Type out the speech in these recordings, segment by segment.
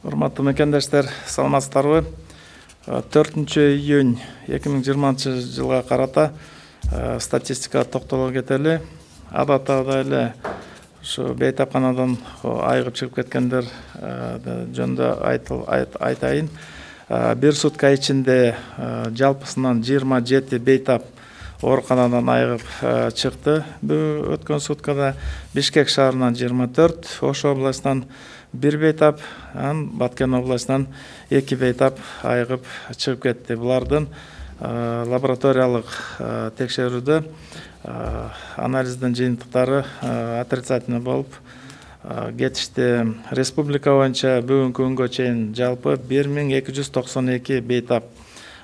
Урматтуу мекендештер, саламатсыздарбы? 4-июнь 2020 жылга карата статистикага токтоло кетели. Адаттагыдай эле ушу бейтапканадан айыгып чыгып кеткендер жөнүндө айтайын. Бир сутка ичинде жалпысынан 27 бейтап ооруканадан айыгып чыкты. Бул өткөн суткада Бишкек шаарынан 24, Ош областынан 1 бейтап, Баткен областынан 2 бейтап айыгып чыгып кетти. Булардын лабораториялык текшерүүдө анализдин жыйынтыктары отрицательный болуп кетишти. Республика боюнча бүгүнкү күнгө чейин жалпы 1292 бейтап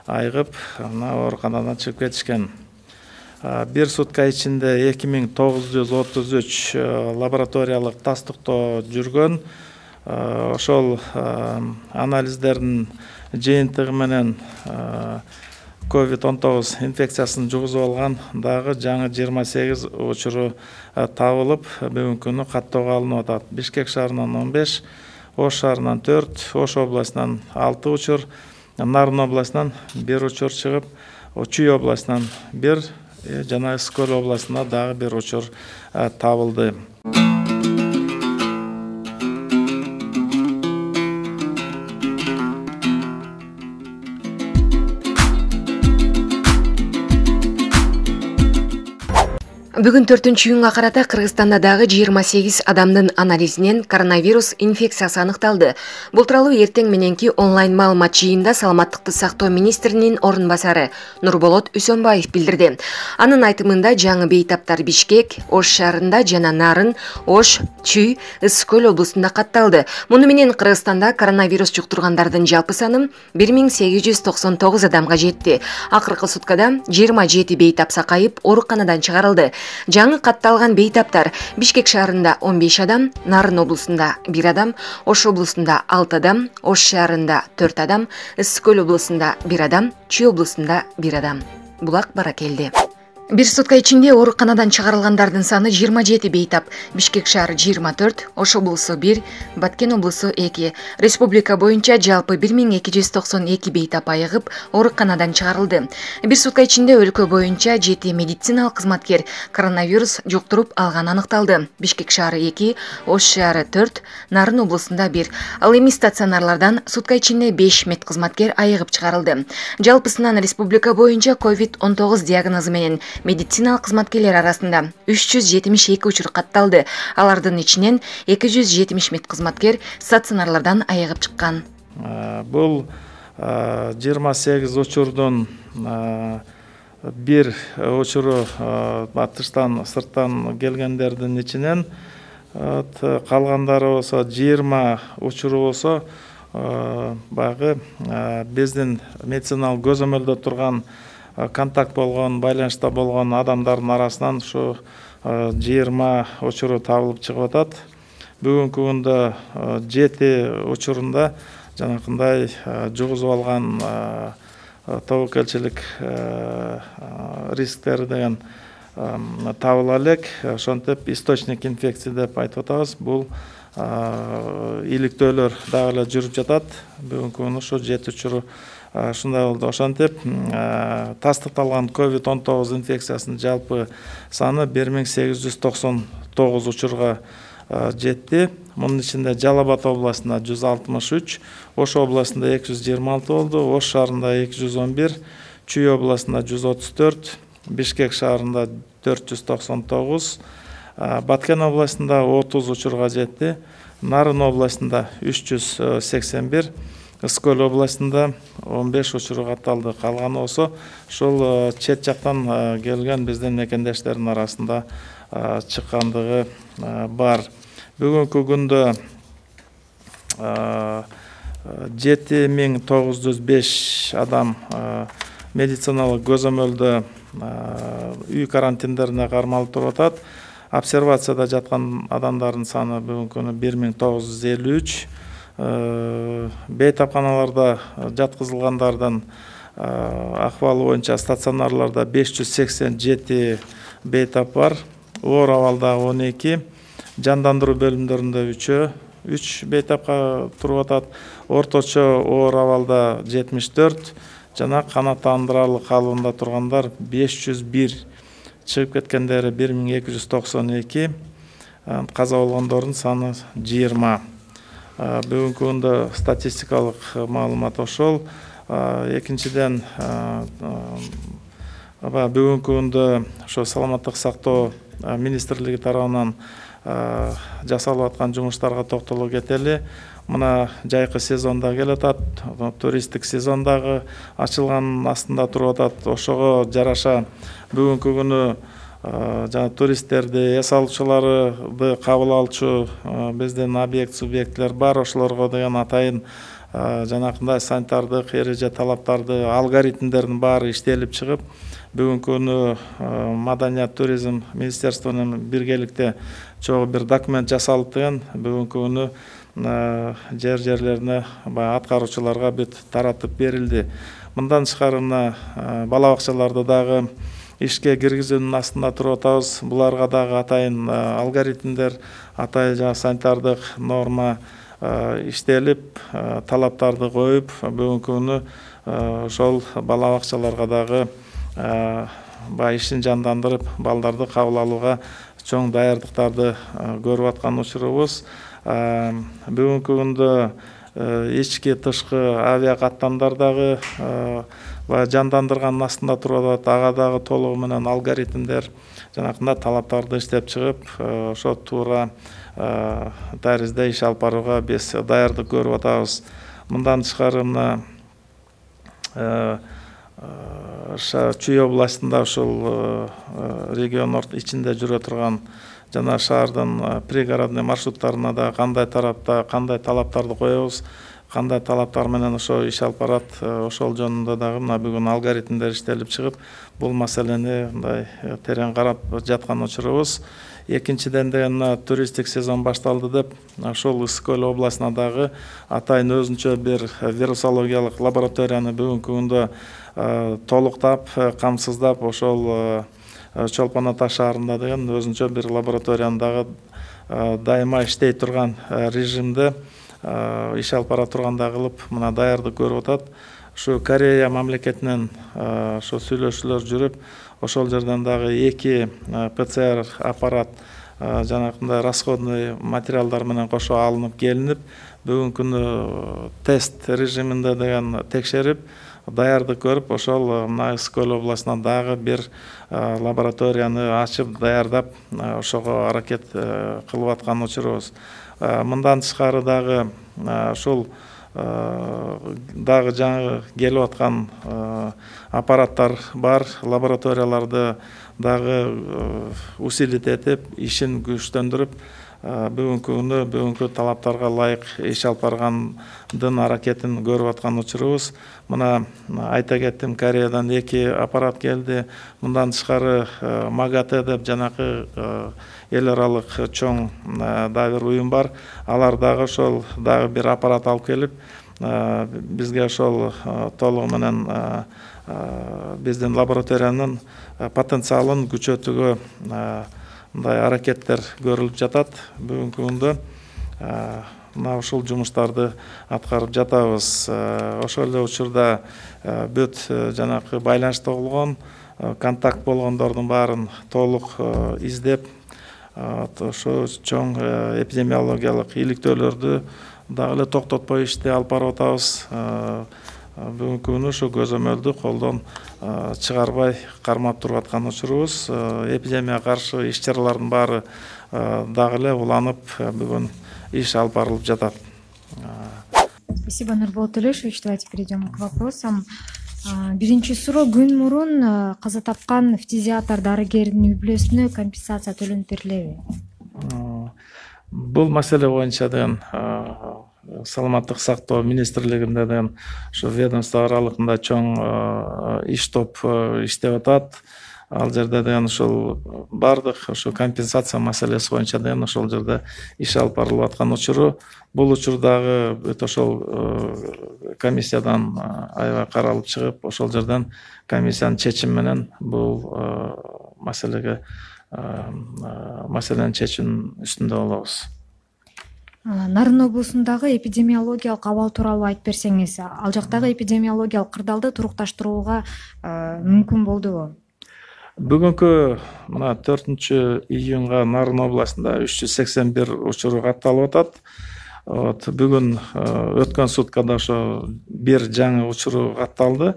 айыгып ооруканадан чыгып кетишкен. Бир сутка ичинде 2933 лабораториялык тастыктоо жүргөн. Ошол анализдердин жыйынтыгы менен COVID-19 инфекциясын жугузуп алган дагы жаңы 28 учуру табылып, бүгүнкү күнү каттоого алынып атат. Бишкек шаарынан 15, Ош шаарынан 4, Ош областынан 6 учур, Нарын областынан 1 учур чыгып, Чүй областынан 1 жана Ысык-Көл областында дагы 1 учур табылды. Бүгүн 4-июнга карата Кыргызстанда дагы 28 адамдын анализинен коронавирус инфекциясы аныкталды. Бул тууралуу эртең мененки онлайн маалымат жыйынында Саламаттыкты сактоо министринин орун басары Нурболот Үсөнбаев билдирди. Анын айтымында жаңы бейтаптар Бишкек, Ош шаарында жана Нарын, Ош, Чүй, Ысык-Көл облустунда катталды. Муну менен Кыргызстанда коронавирус жуктургандардын жалпы саны 1899 адамга жетти. Акыркы суткада 27 бейтап сакайып ооруканадан чыгарылды. Жаңы катталган бейтаптар Бишкек шаарында 15 адам, Нарын облусунда 1 адам, Ош облусунда 6 адам, Ош шаарында 4 адам, Ысык-Көл облусунда 1 адам, Чүй облусунда 1 адам. Булак баракелди. Бир сутка ичинде ооруканадан чыгарылгандардын саны 27 бейтап. Бишкек шаары 24, Ош облусу 1, Баткен облусу 2. Республика боюнча жалпы 1292 бейтап айыгып ооруканадан чыгарылды. Бир сутка ичинде өлкө боюнча 7 медициналык кызматкер коронавирус жуктуруп алганы аныкталды. Бишкек шаары 2, Ош шаары 4, Нарын облусунда 1. Ал эми стационарлардан сутка ичинде 5 медкызматкер айыгып чыгарылды. Жалпысынан республика боюнча COVID-19 диагнозу менен медициналык кызматкерлер арасында 372 учур катталды. Алардын ичинен 270 медкызматкер стационарлардан айыгып чыккан. Бул 28 учурдун бир учуру тыштан, сырттан келгендердин ичинен, калгандары болсо 20 учуру болсо баягы биздин медициналык көзөмөлдө турган контакт болгон, байланышта болгон адамдардын арасынан ушу 20 учуру табылып чыгып атат. Бүгүнкү күндө 7 учурунда жанакындай жугузуп алган тобокелчилик рисктери деген табыла элек. Ошентип источник инфекции деп айтып атабыз. Бул иликтөөлөр дагы эле жүрүп жатат. Бүгүнкү күнү ушу 7 учуру ушундай болду. Ошентип тастыкталган COVID-19 инфекциясынын жалпы саны 1899 учурга жетти. Мунун ичинде Жалал Абад областында 163, Ош областында 226 болду, Ош шаарында 211, Чүй областында 134, Бишкек шаарында 499, Баткен областында 30 учурга жетти, Нарын областында 381, Ысык-Көл областында 15 учуру катталды. Калганы болсо ушул чет жактан келген биздин мекендештердин арасында чыккандыгы бар. Бүгүнкү күндө 7905 адам медициналык көзөмөлдө үй карантиндерине кармалып туруп атат. Обсервацияда жаткан адамдардын саны бүгүнкү күнү 1953. Бейтапканаларда жаткызылгандардын акыбалы боюнча стационарларда 587 бейтап бар. Оор абалда 12, жандандыруу бөлүмдөрүндө 3, 3 бейтапка туруп атат. Орточо оор абалда 74 жана канааттандырарлык калыбында тургандар 501, чыгып кеткендери 1292, каза болгондордун саны 20. Бүгүнкү күндө статистикалык маалымат ошол. Экинчиден, бүгүнкү күндө ошо саламаттык сактоо министрлиги тарабынан жасалып аткан жумуштарга токтоло кетели. Мына жайкы сезонда келатат, туристтик сезондагы ачылганын астында туруп атат. Ошого жараша бүгүнкү күнү жана туристтерди, эс алуучуларды кабыл алчу биздин объект субъектлер бар. Ошолорго деген атайын жанакындай санитардык эреже талаптарды, алгоритмдердин баары иштелип чыгып, бүгүнкү күнү Маданият туризм министерство менен биргеликте чогуу бир документ жасалып деген бүгүнкү күнү жерлерине аткаруучуларга бүт таратып берилди. Мындан тышкары бала бакчаларды дагы ишке киргизүүнүн астында туруп атабыз. Буларга дагы атайын алгоритмдер, атайын санитардык норма иштелип, талаптарды коюп, бүгүнкү күнү ошол бала бакчаларга дагы ишин жандандырып, балдарды кабыл алууга чоң даярдыктарды көрүп аткан учурубуз. Бүгүнкү күндө ички тышкы авиа каттамдар дагы жандандырганын астында туруп атат. Ага дагы толугу менен алгоритмдер жанакындай талаптарды иштеп чыгып, ошо туура таризде иш алып барууга биз даярдык көрүп атабыз. Мындан тышкары Чүй областында ошол регион ичинде жүрө турган жана шаардын пригородный маршруттарына да кандай талаптарды коебуз, кандай талаптар менен ошо иш алып барат, ошол жөнүндө дагы бүгүн алгоритмдер иштелип чыгып, бул маселени мындай терең карап жаткан учурубуз. Экинчиден деген туристтик сезон башталды деп, ошол Ысык Көл областына дагы атайын өзүнчө бир вирусологиялык лабораторияны бүгүнкү күндө толуктап, камсыздап, ошол Чолпон Ата шаарында деген өзүнчө бир лабораторияны дагы дайыма иштей турган режимде иш алып бара тургандай кылып, мына даярдык көрүп атат. Ушу Корея мамлекетинен ошо сүйлөшүүлөр жүрүп, ошол жерден дагы 2 ПЦР аппарат жанакындай расходный материалдар менен кошо алынып келинип, бүгүнкү күнү тест режиминде деген текшерип, даярдык көрүп, ошол мына Ысык Көл областына дагы бир лабораторияны ачып, даярдап, ошого аракет кылып аткан учурубуз. Мындан тышкары дагы ушул дагы жаңы келип аткан аппараттар бар, лабораторияларды дагы усилить этип, ишин күчтөндүрүп, бүгүнкү күнү бүгүнкү талаптарга ылайык иш алып баргандын аракетин көрүп аткан учурубуз. Мына айта кеттим, Кореядан 2 аппарат келди. Мындан тышкары МАГАТЭ деп жанакы эл аралык чоң дагы бир уюм бар. Алар дагы ошол дагы бир аппарат алып келип, бизге ошол толугу менен биздин лабораториянын потенциалын күчөтүүгө мындай аракеттер көрүлүп жатат. Бүгүнкү күндө мына ушул жумуштарды аткарып жатабыз. Ошол эле учурда бүт жанакы байланышта болгон, контакт болгондордун баарын толук издеп, ошо чоң эпидемиологиялык иликтөөлөрдү дагы эле токтотпой ишти алып барып атабыз. Бүгүнкү күнү ушу көзөмөлдү колдон чыгарбай кармап туруп аткан учурубуз. Эпидемияга каршы иш-чаралардын баары дагы эле уланып, бүгүн иш алып барылып жатат. Спасибо, Нурболот Төлешович. Давайте перейдем к вопросам. Биринчи суроо: күн мурун каза тапкан фтизиатр дарыгердин үй бүлөсүнө компенсация төлөнүп берилеби? Бул маселе боюнча деген саламаттык сактоо министрлигинде деген ушу ведомство аралыгында чоң иш топ иштеп атат. Ал жерде деген ушул бардык ушу компенсация маселеси боюнча деген ошол жерде иш алып барылып аткан учуру. Бул учурдагы бүт ошол комиссиядан аябай каралып чыгып, ошол жерден комиссиянын чечими менен бул маселенин чечүүнүн үстүндө болобуз. Нарын облусундагы эпидемиологиялык абал тууралуу айтып берсеңиз, ал жактагы эпидемиологиялык кырдаалды турукташтырууга мүмкүн болдубу? Бүгүнкү мына 4-июнга Нарын областында 381 учур катталып атат. Бүгүн өткөн суткада ошо бир жаңы учуру катталды.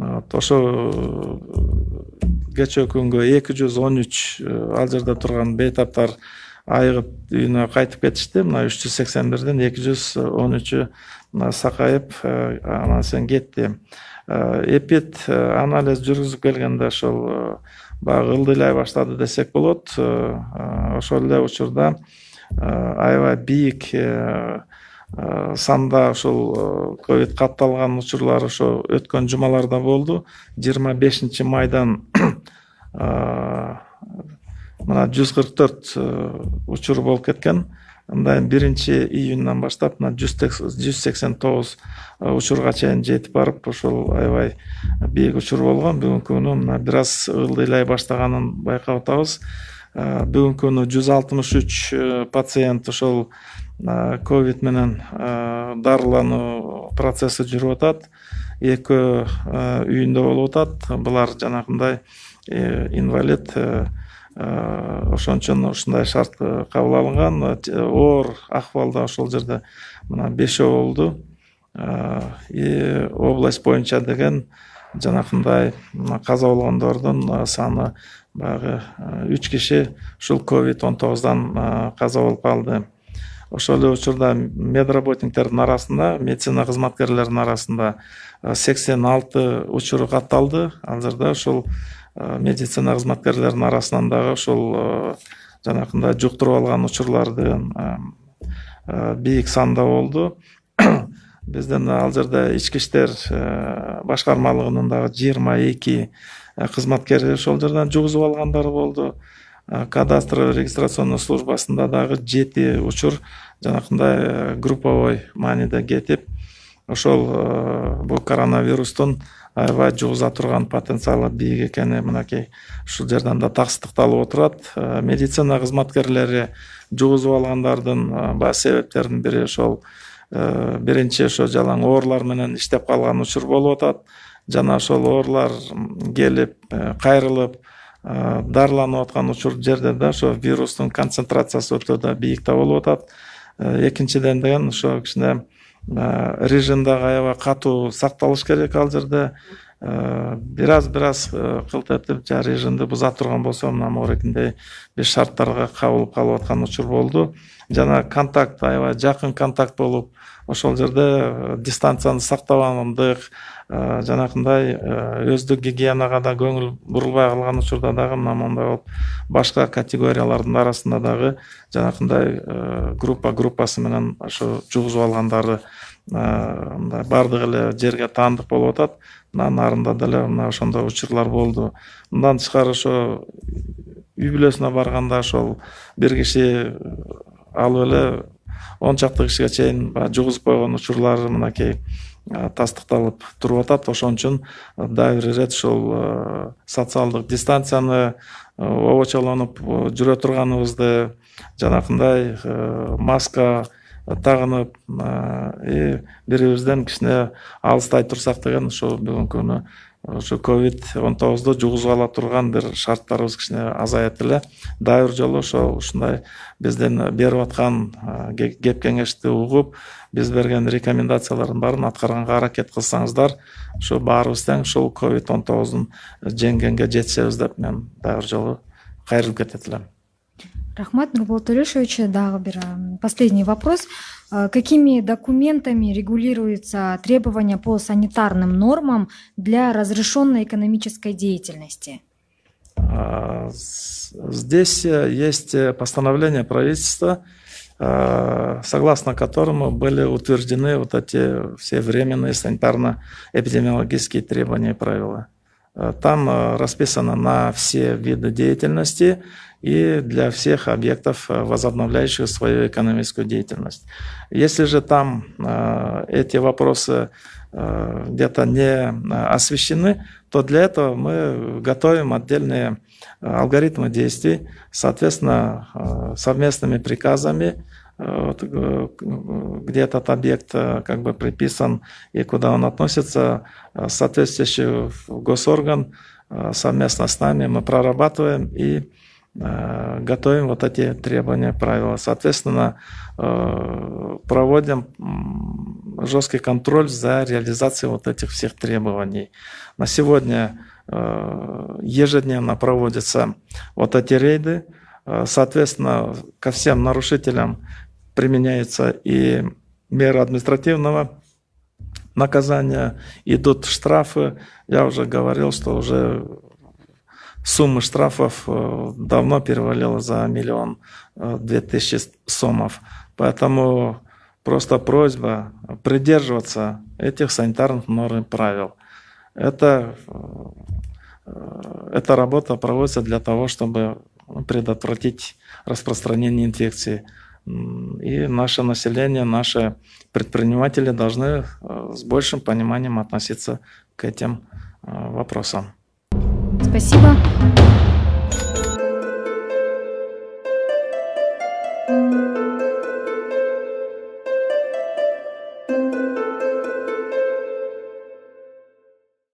Ошо кечээ күнгө 213 ал жерде турган бейтаптар айыгып үйүнө кайтып кетишти. Мына 381ден 213 сакайып анан сен кетти. Эпид анализ жүргүзүп келгенде ошол баягы ылдыйлай баштады десек болот. Ошол эле учурда аябай бийик санда ошол ковид катталган учурлар ошо өткөн жумаларда болду. 25 майдан мына 144 учур болуп кеткен. Андан 1-июндан баштап мына 189 учурга чейин жетип барып, ошол аябай бийик учур болгон. Бүгүнкү күнү мына бир аз ылдыйлай баштаганын байкап атабыз. Бүгүнкү күнү 163 пациент ошол ковид менен дарылануу процесси жүрүп атат. 2 үйүндө болуп атат. Булар жанагындай инвалид, ошон үчүн ушундай шарт кабыл алынган. Оор акыбалда ошол жерде мына 5 болду. Область боюнча деген жанакындай каза болгондордун саны баягы 3 киши ушул COVID-19дан каза болуп калды. Ошол эле учурда медработниктердин арасында, медицина кызматкерлеринин арасында 86 учур катталды. Ал жерде ошол медицина кызматкерлеринин арасынан дагы ошол жанакындай жуктуруп алган учурлардын бийик санда болду. Бизден ал жерде ички иштер башкармалыгынын дагы 22 кызматкери ошол жерден жугузуп алгандары болду. Кадастровый регистрационный службасында дагы 7 учур жанакындай групповой мааниде кетип, ошол бул коронавирустун аябай жугуза турган потенциалы бийик экени мынакей ушул жерден да таксыздыкталып отурат. Медицина кызматкерлери жугузуп алгандардын баягы себептеринин бири ошол биринчи ошо жалаң оорлар менен иштеп калган учур болуп атат. Жана ошол оорлар келип, кайрылып дарыланып аткан учур жерде да ошо вирустун концентрациясы өтө да бийикте болуп атат. Экинчиден деген ошо кичине режим дагы аябай катуу сакталыш керек ал жерде. Бир аз кылт этип режимди буза турган болсо, мына могурекиндей бир шарттарга кабылып калып аткан учур болду. Жана контакт, аябай жакын контакт болуп, ошол жерде дистанцияны сактабагандык, жанакындай өздүк гигиенага да көңүл бурулбай калган учурда дагы мына мондай болуп, башка категориялардын арасында дагы жанакындай группасы менен ошо жугузуп алгандары мындай бардык эле жерге таандык болуп атат. Мына Нарында деле мына ошондой учурлар болду. Мындан тышкары ошо үй бүлөсүнө барганда ошол бир киши алып эле 10 чакты кишиге чейин жугузуп койгон учурлар мынакей тастыкталып туруп атат. Ошон үчүн дагы бир ирет ушул социалдык дистанцияны обочолонуп жүрө турганыбызды, жанакындай маска тагынып бирибизден кичине алыстай турсак деген ошо бүгүнкү күнү ошо COVID-19 жугузуп ала турган бир шарттарыбыз кичине азаят эле. Дагы бир жолу ушундай бизден берип аткан кеп кеңешти угуп, биз берген рекомендациялардын баарын аткарганга аракет кылсаңыздар, ошо баарыбыз тең ушул COVID-19 жеңгенге жетишебиз деп мен дагы бир жолу кайрылып кетет элем. Рахмат, Нурболот Төлөшович. Дагы бир последний вопрос. Какими документами регулируются требования по санитарным нормам для разрешенной экономической деятельности? Здесь есть постановление правительства, согласно которому были утверждены вот эти все временные санитарно-эпидемиологические требования и правила. Там расписано на все виды деятельности и для всех объектов, возобновляющих свою экономическую деятельность. Если же там эти вопросы где-то не освещены, то для этого мы готовим отдельные алгоритмы действий, соответственно, совместными приказами где этот объект как бы приписан и куда он относится, соответствующий госорган совместно с нами мы прорабатываем и готовим вот эти требования, правила. Соответственно, проводим жесткий контроль за реализацией вот этих всех требований. На сегодня ежедневно проводятся вот эти рейды. Соответственно, ко всем нарушителям применяются и меры административного наказания, идут штрафы. Я уже говорил, что уже сумма штрафов давно перевалила за 1 200 000 сомов. Поэтому просто просьба придерживаться этих санитарных норм и правил. Эта работа проводится для того, чтобы предотвратить распространение инфекции. И наше население, наши предприниматели должны с большим пониманием относиться к этим вопросам. Спасибо.